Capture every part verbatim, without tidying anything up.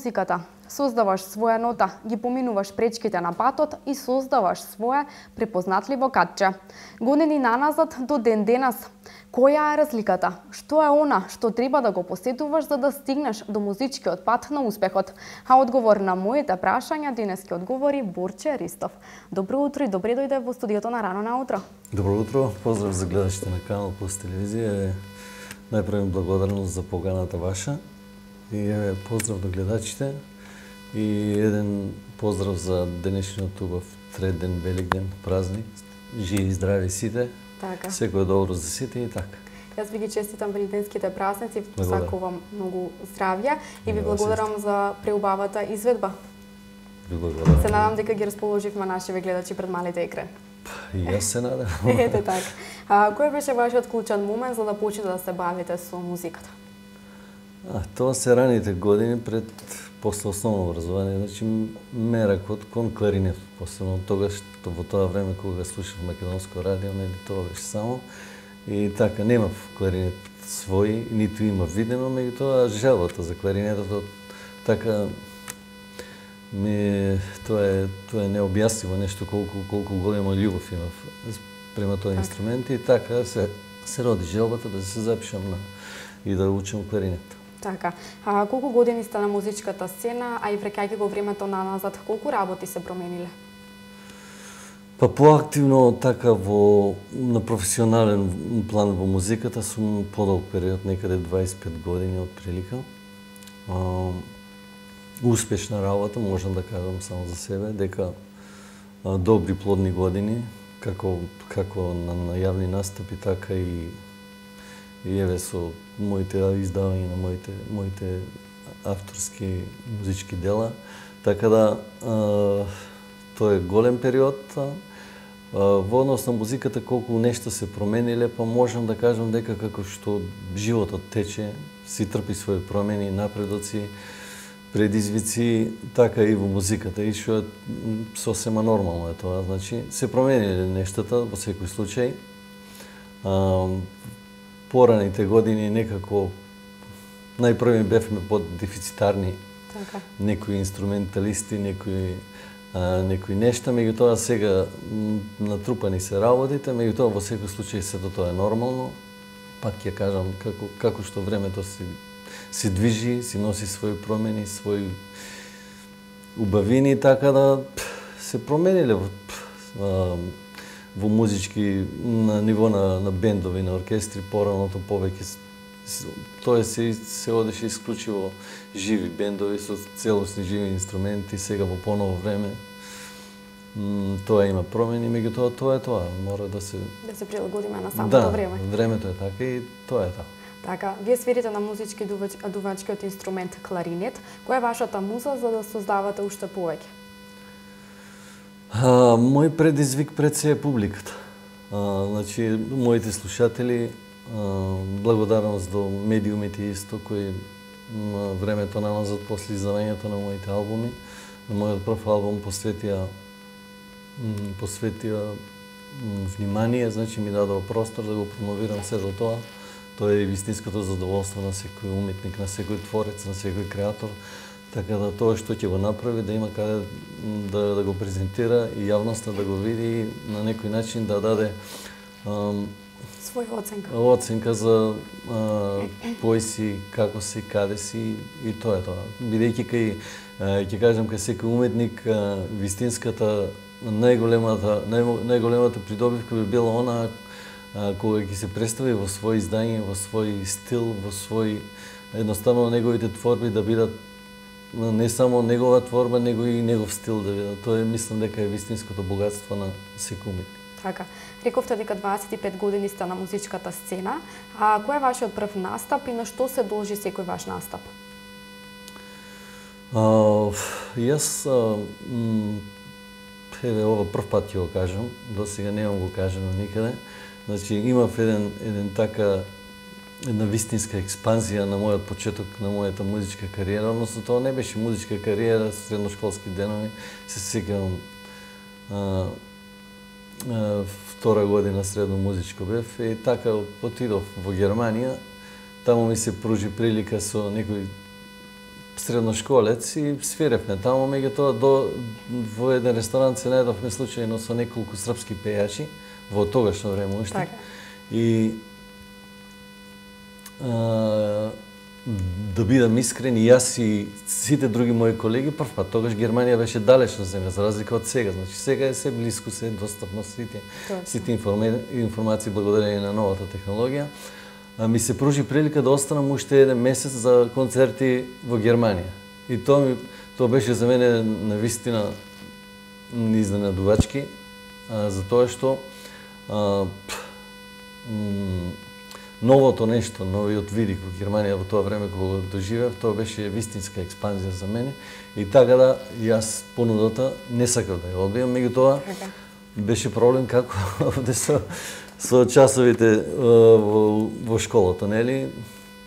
музиката. Создаваш своја нота, ги поминуваш пречките на патот и создаваш своја препознатливо катче. Години наназад до ден денес, која е разликата? Што е она што треба да го посетуваш за да стигнеш до музичкиот пат на успехот? А одговор на моите прашања денес ќе одговори Борче Ристов. Добро утро и добре дојде во студиото на Рано на утро. Добро утро, поздрав за гледачите на Канал Плюс телевизија. Најпрво благодарност за поканата ваша и еве поздрав до гледачите и еден поздрав за денешниот убав треден, великден, празник. Живи и здрави сите. Така. Секој добро за сите и така. Јас ви ги честитам великденските празници, посакувам многу здравје и ви благодарам за преубавата изведба. Ви благодарам. Се надам дека ги расположивме нашите гледачи пред малите екран. И јас се надам. Ете така. А, кој беше вашиот клучен момент за да почнете да се бавите со музиката? А, тоа се раните години пред после основно образование, значи меракот кон кларинет, посебно тогаш во тоа време кога слушав македонско радио, нели тоа беше само и така немав кларинет свој, ниту има видено, меѓутоа желбата за кларинетот така ми тоа е тоа е необјаснимо нешто колку колку голема љубов имав према тој инструмент и така се се роди желбата да се запишам на и да учам кларинет. Така. А колку години сте на музичката сцена, а и враќајќи го времето наназад, колку работи се промениле? Па поактивно така во на професионален план во музиката сум подолг период, некаде дваесет и пет години од прилика. А, успешна работа, можам да кажам само за себе, дека а, добри плодни години, како како на, на јавни настапи, така и и еве со моите издавања на моите моите авторски музички дела, така да а, тоа е голем период. А, во однос на музиката колку нешто се промениле, па можам да кажам дека како што животот тече, си трпи своји промени, напредоци, предизвици, така и во музиката, и што е сосема нормално е тоа, значи се промениле нештата во секој случај. А, Пораните години некако најпрви бевме под дефицитарни, така, некои инструменталисти, некои а, некои нешта, меѓутоа сега натрупани се работите, меѓутоа во секој случај сето тоа е нормално. Пак ќе кажам како како што времето се се движи, си носи своји промени, своји убавини, така да се промениле во во музички на ниво на, на бендови, на оркестри, пораното повеќе тоа се се одеше исклучиво живи бендови со целосни живи инструменти, сега во поново време м, тоа има промени, меѓутоа тоа е тоа, мора да се да се прилагодиме на самото да, време. времето е така и тоа е тоа. Така, вие свирите на музички дувач, дувачкиот инструмент кларинет. Која е вашата муза за да создавате уште повеќе? А, мој предизвик пред се е публиката. А, значи, моите слушатели, а, благодарност до медиумите исто, кои на времето наназад после издавањето на моите албуми, на мојот прв албум посветија посветија внимание, значи ми дадоа простор да го промовирам се до тоа. Тоа е вистинското задоволство на секој уметник, на секој творец, на секој креатор. Така да тоа што ќе го направи, да има каде да, да го презентира и јавноста да го види и на некој начин да даде ам, своја оценка. Оценка за а, кој си, како си, каде си и тоа е тоа. Бидејќи кај, ќе кажам, кај секој уметник, а, вистинската, најголемата, нај, најголемата придобивка би била она а, кога ќе се представи во свој издање, во свој стил, во свој, едноставно неговите творби да бидат не само негова творба, него и негов стил да видат. Тоа е, мислам дека е вистинското богатство на секој уметник. Така. Рековте дека дваесет и пет години сте на музичката сцена, а кој е вашиот прв настап и на што се должи секој ваш настап? А, јас а, м, еве ова прв пат ќе го кажам, до сега немам го кажано никаде. Значи имав еден еден така една вистинска експанзија на мојот почеток на мојата музичка кариера, односно тоа не беше музичка кариера, средношколски денови, се сеќавам втора година средно музичко бев и така отидов во Германија, таму ми се пружи прилика со некои средношколец и свиревме таму, меѓутоа до во еден ресторант се најдовме случајно со неколку српски пејачи во тогашно време уште. Така. И а, да бидам искрен, и јас и сите други мои колеги, прв пат тогаш Германија беше далечна земја, за разлика од сега. Значи сега е се блиску, се достапно сите, сите информи, информации благодарение на новата технологија. А, ми се пружи прилика да останам уште еден месец за концерти во Германија. И тоа ми тоа беше за мене навистина изненадувачки, а, за тоа што а, новото нешто, новиот видик во Германија во тоа време кога го доживеав, тоа беше вистинска експанзија за мене. И така да јас понудата не сакав да ја одбијам, меѓутоа беше проблем како овде со со часовите во, во школата, нели?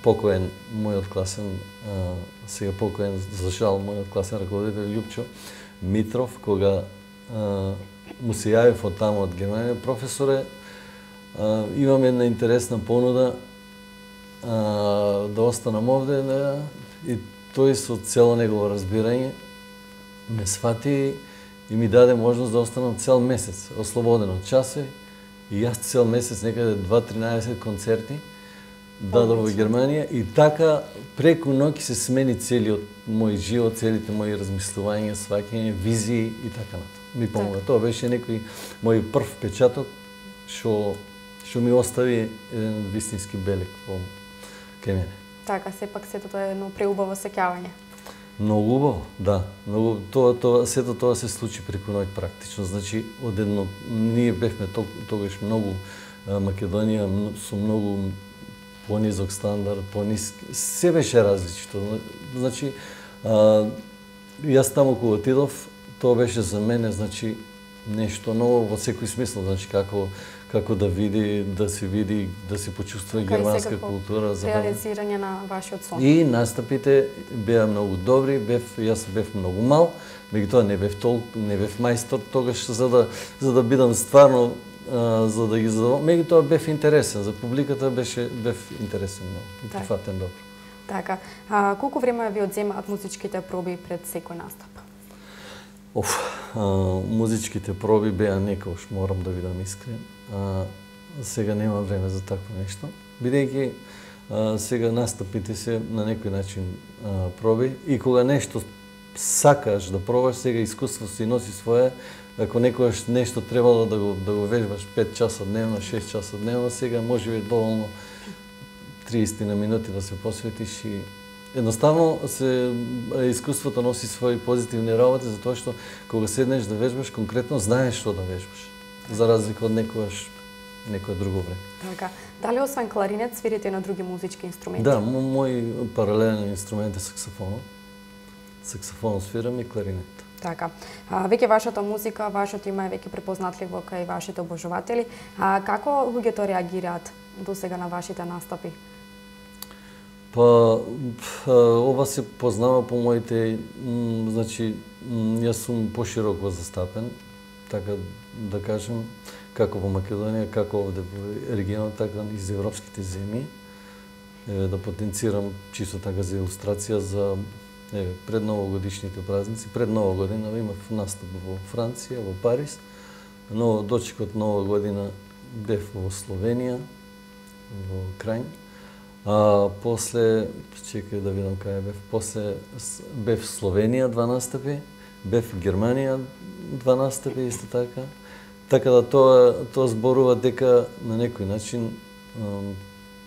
Покоен мојот класен, а, сега покоен за жал мојот класен раководител Љупчо Митров, кога а, му се јавив од таму од Германија, професоре, а, имам една интересна понуда а, да останам овде, да, и тој со цело негово разбирање ме свати и ми даде можност да останам цел месец, ослободен од часови. И јас цел месец, некаде дваесет концерти, дадов во Германија, и така преку ноќ се смени целиот мој живот, целите мои размислувања, сваќање, визии и така натаму. Ми помога. Так. Тоа беше некој мој прв печаток што што ми остави еден вистински белег во кај мене. Така, сепак сето тоа е едно преубаво сеќавање. Многу убаво, да. Многу тоа тоа сето тоа се случи преку ноќ практично. Значи одедно ние бевме тогаш многу Македонија со многу понизок стандард, пониски, се беше различно. Значи а, јас таму кога отидов, тоа беше за мене, значи нешто ново во секој смисла, значи како како да види, да се види, да се почувствува германска култура, за реализирање на вашиот сон. И настапите беа многу добри, бев јас бев многу мал, меѓутоа не бев толку, не бев мајстор тогаш за да за да бидам стварно а, за да ги задоволам. Меѓутоа бев интересен за публиката, беше бев интересен многу, прифатен добро. Така, а, колку време ви одземаат музичките проби пред секој настап? Оф, а, музичките проби беа некош, морам да бидам искрен. А, сега нема време за такво нешто, бидејќи сега настапите се на некој начин а, проби, и кога нешто сакаш да пробаш, сега искуство си носи своje. Ако некојаш нешто требало да го да го вежбаш пет часа дневно, шест часа дневно, сега може би доволно триесет на минути да се посветиш, и едноставно се искуството носи своји позитивни работи, затоа што кога седнеш да вежбаш, конкретно знаеш што да вежбаш, за разлика од некојаш некое друго време. Така. Дали освен кларинет свирите на други музички инструменти? Да, мој паралелен инструмент е саксофонот. Саксофон свирам и кларинет. Така. А, веќе вашата музика, вашето име е веќе препознатливо кај вашите обожуватели. А како луѓето реагираат досега на вашите настапи? Па, ова се познава по моите, значи, јас сум пошироко застапен, така да кажем, како во Македонија, како овде во регионот, така и за европските земји. Еве, да потенцирам чисто така за илустрација за еве, пред новогодишните празници, пред Нова година имав настап во Франција, во Париз, но дочекот Нова година бев во Словенија, во Крајн. А после, чекај да видам кај бев, после бев в Словенија два настапи, бев в Германија два настапи исто така. Така да тоа тоа зборува дека на некој начин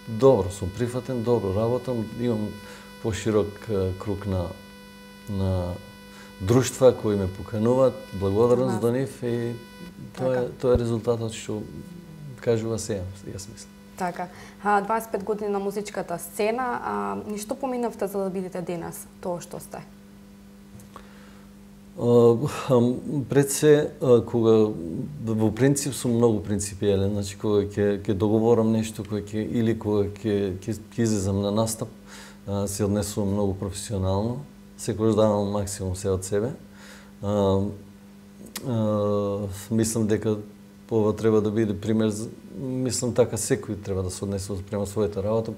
добро сум прифатен, добро работам, имам поширок круг на на друштва кои ме покануваат, благодарност до нив, и тоа е тоа е резултатот што кажува се, јас мислам. Така. дваесет и пет години на музичката сцена, а ништо поминавте за да бидете денес тоа што сте? Пред се, кога во принцип сум многу принципиелен, значи кога ќе ќе договорам нешто, кога ќе или кога ќе ќе излезам на настап, се однесувам многу професионално, секогаш давам максимум се од себе. Мислам дека ова треба да биде пример, мислам така секој треба да се однесе према својата работа,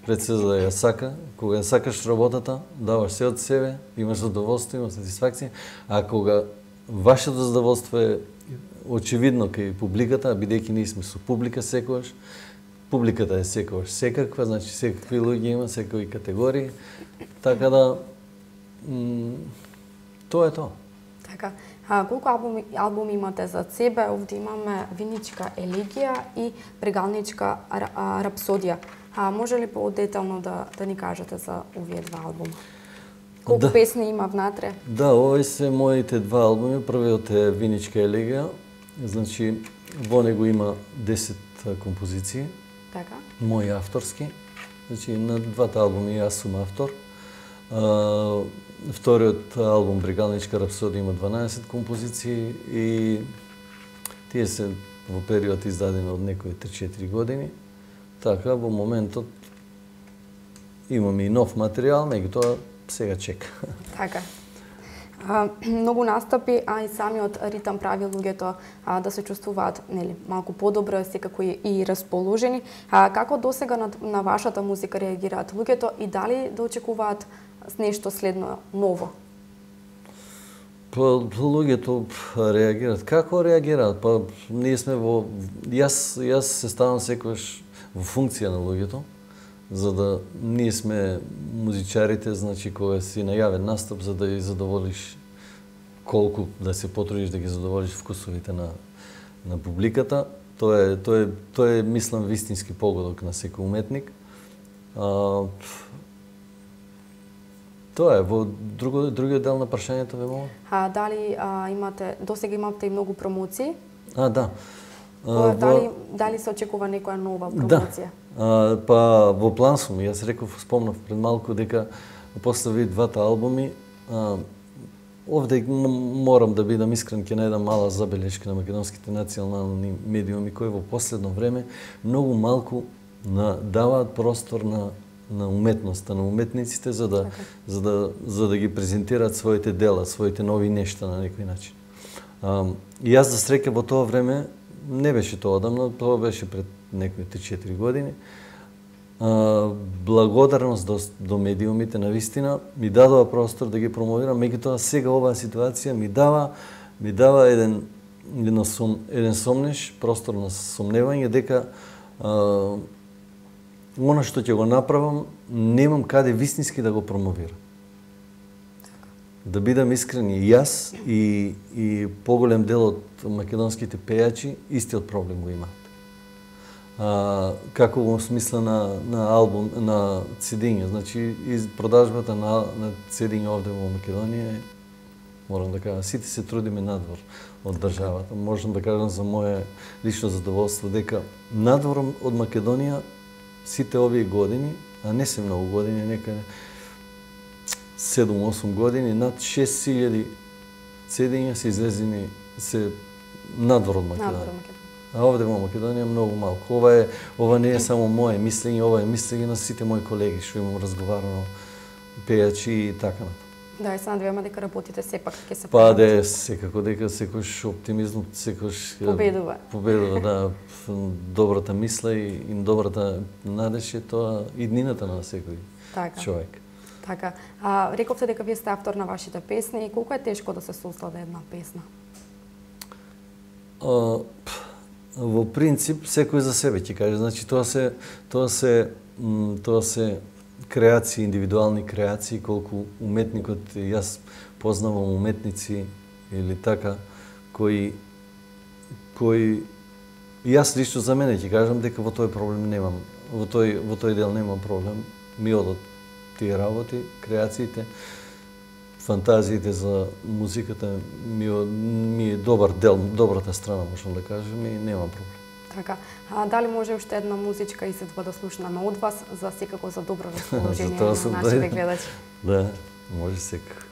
пред се за да ја сака, кога ја сакаш работата, даваш се од себе, имаш задоволство, имаш сатисфакција, а кога вашето задоволство е очевидно кај публиката, бидејќи ние сме со публика секогаш, публиката е секогаш секаква, значи секакви луѓе има, секакви категории, така да тоа е тоа. Така. А, колку албуми, албуми имате за себе? Овде имаме Виничка елегија и Прегалничка рапсодија. А може ли по-детално да, да ни кажете за овие два албума? Колку да. Песни има внатре? Да, овие се моите два албуми. Првиот е Виничка елегија. Значи, во него има десет композиции. Така. Мои авторски. Значи, на двата албуми јас сум автор. А, вториот албум Брегалничка рапсодија има дванаесет композиции и тие се во период издадени од некои три-четири години. Така, во моментот имаме и нов материјал, меѓутоа сега чека. Така. А, многу настапи, а и самиот ритам прави луѓето а, да се чувствуваат нели малку подобро, секако и, и расположени. А, како досега на, на вашата музика реагираат луѓето и дали да очекуваат нешто следно ново? Па луѓето реагираат. Како реагираат? Па ние сме во јас јас се ставам секогаш во функција на луѓето, за да ние сме музичарите, значи кога си најавен настап за да ги задоволиш колку да се потрудиш да ги задоволиш вкусовите на на публиката. Тоа е тоа е тоа е мислам вистински погодок на секој уметник. А, Тоа е, во друго, другиот дел на прашањето ве молам. А дали а, имате, досега имате и многу промоции? А, да. А, дали, во... дали се очекува некоја нова промоција? Да. А, па во план сум, јас реков, спомнав пред малку дека после ви двата албуми, а, овде морам да бидам искрен, ќе најдам мала забелешка на македонските национални медиуми кои во последно време многу малку на, даваат простор на на уметноста, на уметниците за да, за да, за да ги презентираат своите дела, своите нови нешта на некој начин. А, и јас за среќа во тоа време, не беше тоа одамна, тоа беше пред некои три-четири години, а, благодарност до, до медиумите на вистина ми дадува простор да ги промовирам, меѓутоа сега оваа ситуација ми дава ми дава еден еден, сум, еден сомнеш, простор на сомневање дека а, она што ќе го направам, немам каде вистински да го промовирам. Да бидам искрен и јас и, и поголем дел од македонските пејачи истиот проблем го имаат. А, како во смисла на, на албум, на цедиња, значи из продажбата на, на цедиња овде во Македонија, морам да кажам, сите се трудиме надвор од државата. Можам да кажам за моје лично задоволство дека надвор од Македонија сите овие години, а не се многу години, некаде седум-осум години, над шест илјади цедиња се излезени се надвор од Македонија. А овде во Македонија многу малку. Ова е ова не е само моје мислење, ова е мислење на сите мои колеги што имам разговарано, пејачи и така натаму. Да, и се надеваме дека работите сепак ќе се Па да, секако дека секојаш оптимизмот, секојаш победува. Победува, да, добрата мисла и, и добрата надеж е тоа иднината на секој така. Човек. Така. А, рековте дека вие сте автор на вашите песни и колку е тешко да се создаде една песна? А, во принцип секој за себе ќе каже, значи тоа се тоа се тоа се креации, индивидуални креации, колку уметникот, јас познавам уметници или така, кои кои јас лично за мене ќе кажам дека во тој проблем немам, во тој во тој дел немам проблем. Ми одат тие работи, креациите, фантазиите за музиката ми, ми е добар дел, добрата страна, можам да кажам, и немам проблем. Така, а дали може уште една музичка изедба да слушнаме од вас, за секако за добро расположение на нашите гледачи? Да, може секако.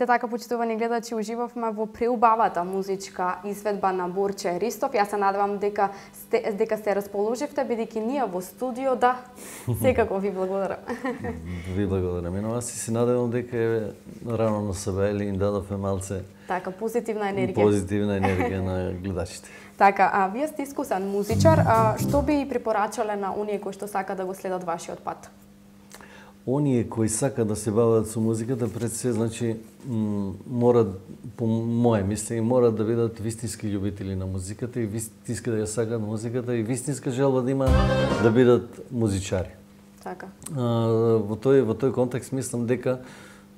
така, почитувани гледачи, уживавме во преубавата музичка изведба на Борче Ристов. Јас се надевам дека сте, дека се расположивте, бидејќи ние во студио, да, секако ви благодарам. Ви благодарам. Но аз се надевам дека е рано на себе или им дадовме малце така, позитивна енергија. Позитивна енергија на гледачите. Така, а вие сте искусен музичар, а што би препорачале на оние кои што сака да го следат вашиот пат? Оние кои сакаат да се бават со музиката, пред се, значи, морат, по моје мислење, морат да бидат вистински љубители на музиката и вистински да ја сакаат музиката и вистинска желба да има да бидат музичари. Така. А, во тој во тој контекст мислам дека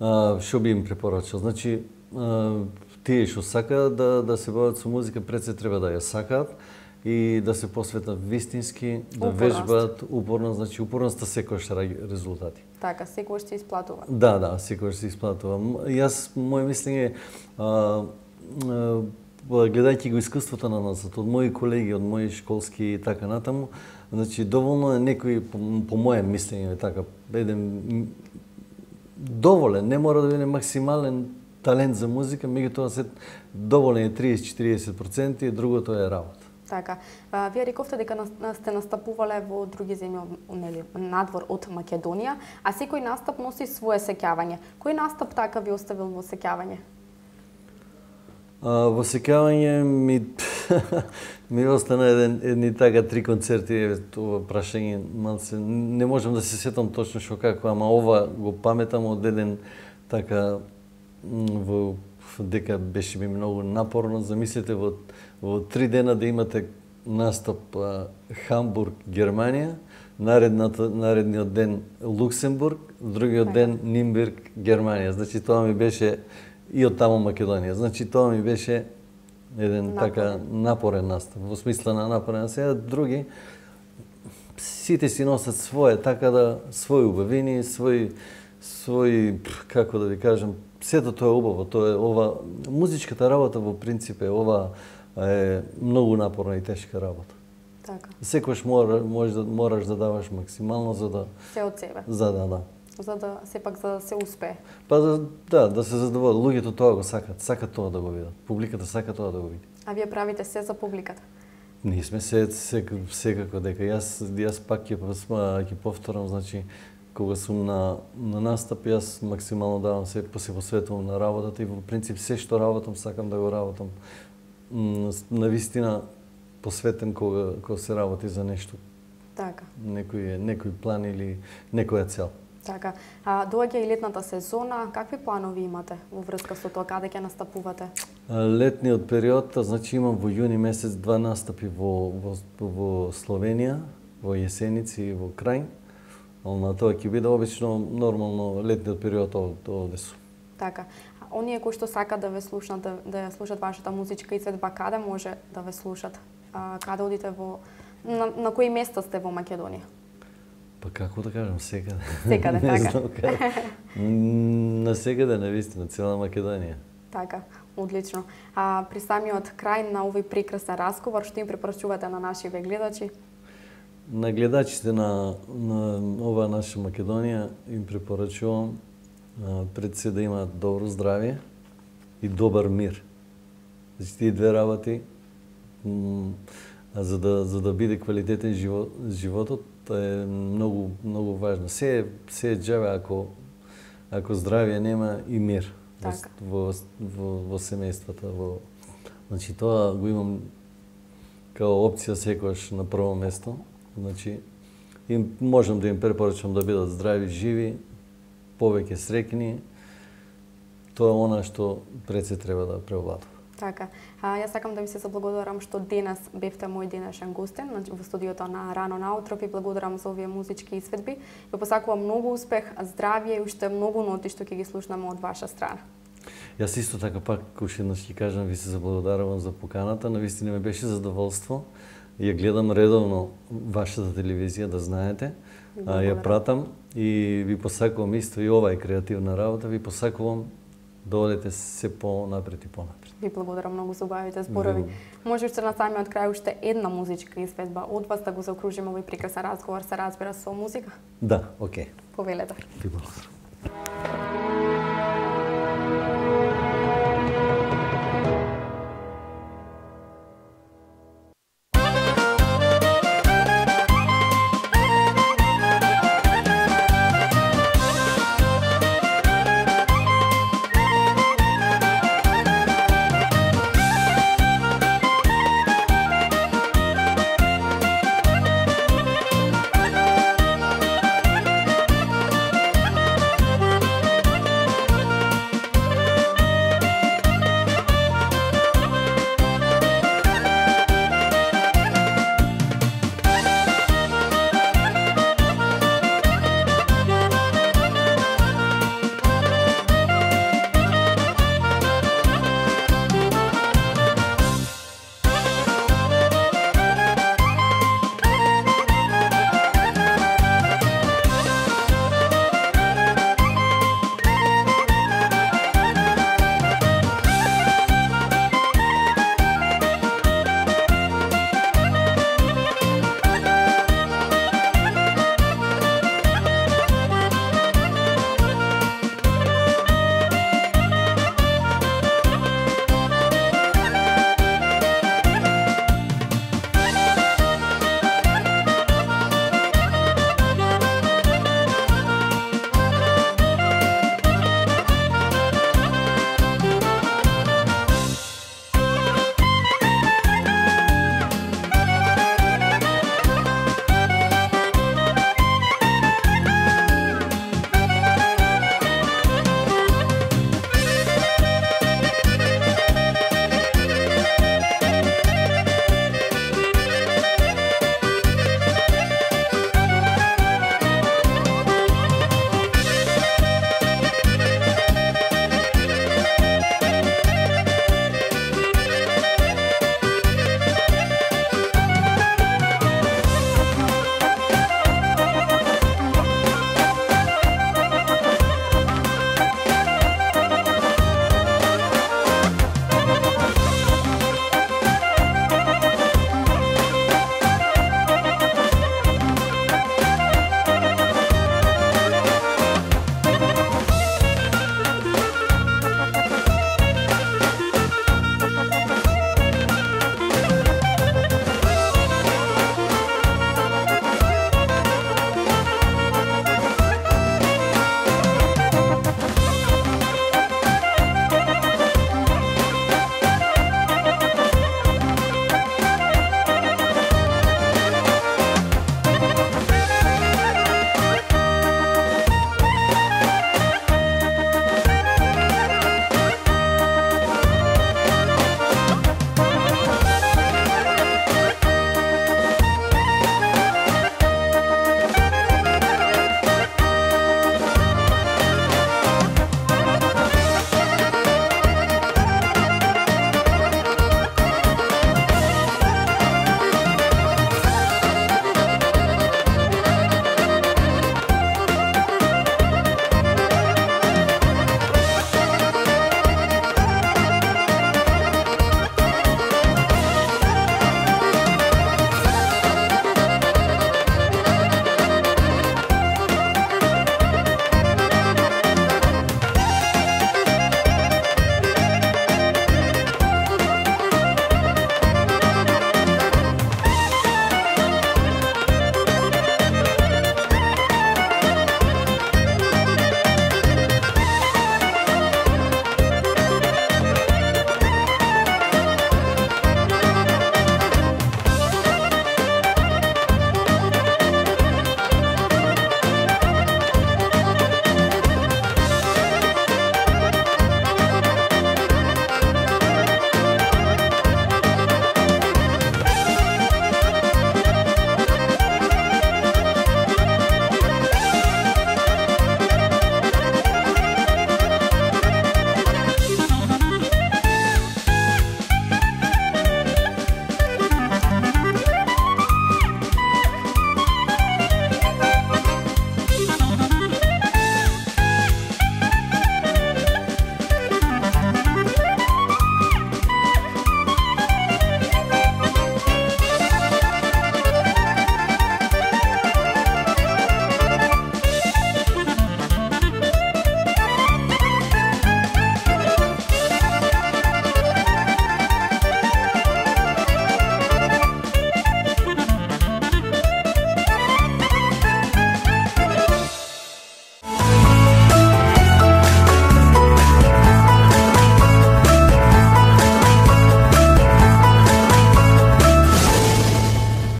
а, што би им препорачал. Значи, а, тие што сакаат да да се бават со музика, пред се треба да ја сакаат и да се посветат вистински, да Упорност. вежбаат упорно, значи упорноста секогаш раѓа резултати. Така, секогаш се исплатува. Да, да, секогаш се исплатува. Јас, моје мислење, а, а, гледајќи го искуството на нас, од мои колеги, од мои школски и така натаму, значи доволно е некој, по, по моје мислење, така, еден доволен, не мора да биде максимален талент за музика, меѓутоа се доволен е триесет до четириесет проценти и другото е работа. Така, а, вие рековте дека сте настапувале во други земји, нели, надвор од Македонија, а секој настап носи свое сеќавање. Кој настап така ви оставил во сеќавање? А, во сеќавање ми ми остана еден едни така три концерти, тоа прашање малце не можам да се сетам точно што како, ама ова го паметам од еден така во дека беше ми многу напорно. Замислете во во три дена да имате настап а, Хамбург, Германија, наредната наредниот ден Луксембург, другиот ден Нимберг, Германија. Значи тоа ми беше и од таму Македонија. Значи тоа ми беше еден напорен. така напорен настап, во смисла на напорен. Сега други сите си носат свое, така да своји убавини, своји своји како да ви кажам, сето тоа е убаво, тоа е ова музичката работа во принцип е ова е многу напорна и тешка работа. Така. Секогаш мора, можеш да мораш да даваш максимално за да Се од себе. За да, да. За да сепак за да се успее. Па да, да, да се задоволат. Луѓето тоа го сакат, сакат тоа да го видат. Публиката сака тоа да го види. А вие правите се за публиката? Ние сме се секако дека јас јас пак ќе ќе повторам, значи кога сум на на настап, јас максимално давам се се посветувам на работата и во принцип се што работам сакам да го работам на вистина посветен кога кога се работи за нешто. Така. Некој некој план или некоја цел. Така. А доаѓа и летната сезона, какви планови имате во врска со тоа, каде ќе настапувате? Летниот период, значи имам во јуни месец два настапи во во, во Словенија, во Јесеници и во Крајн. На тоа ќе биде обично нормално летниот период овде сум. Така. А оние кои што сакаат да ве слушнат, да, да ја слушат вашата музичка изведба, каде може да ве слушат? А, каде одите во на, на кои места сте во Македонија? Па како да кажам, секаде. Секаде, така. На секаде, на вистина, цела Македонија. Така, одлично. А при самиот крај на овој прекрасен разговор, што им препорачувате на нашите гледачи? На гледачите на, на ова наша Македонија им препорачувам а, пред се да имаат добро здравје и добар мир. Значи тие две работи, а за да за да биде квалитетен живот, животот е многу многу важно. Се се е џаве ако ако здравје нема и мир така. во во во семејствата, во значи тоа го имам као опција секогаш на прво место. Значи, им можам да им препорачам да бидат здрави, живи, повеќе среќни. Тоа е она што пред се треба да преовладува. Така. А, јас сакам да ви се заблагодарам што денес бевте мој денешен гостин во студиото на Рано наутро. Ви благодарам за овие музички изведби. Ви посакувам многу успех, здравје и уште многу ноти што ќе ги слушнаме од ваша страна. Јас исто така пак уште еднаш ќе кажам, ви се заблагодарувам за поканата. Навистина ми беше задоволство. Ја гледам редовно вашата телевизија, да знаете. А, ја пратам и ви посакувам исто и ова е креативна работа. Ви посакувам да одете се понапред и понапред. Ви благодарам многу за убавите зборови. Може уште на самиот крај уште една музичка изведба од вас да го заокружиме овој прекрасен разговор, се разбира со музика? Да, окей. Повелете. Ви благодарам.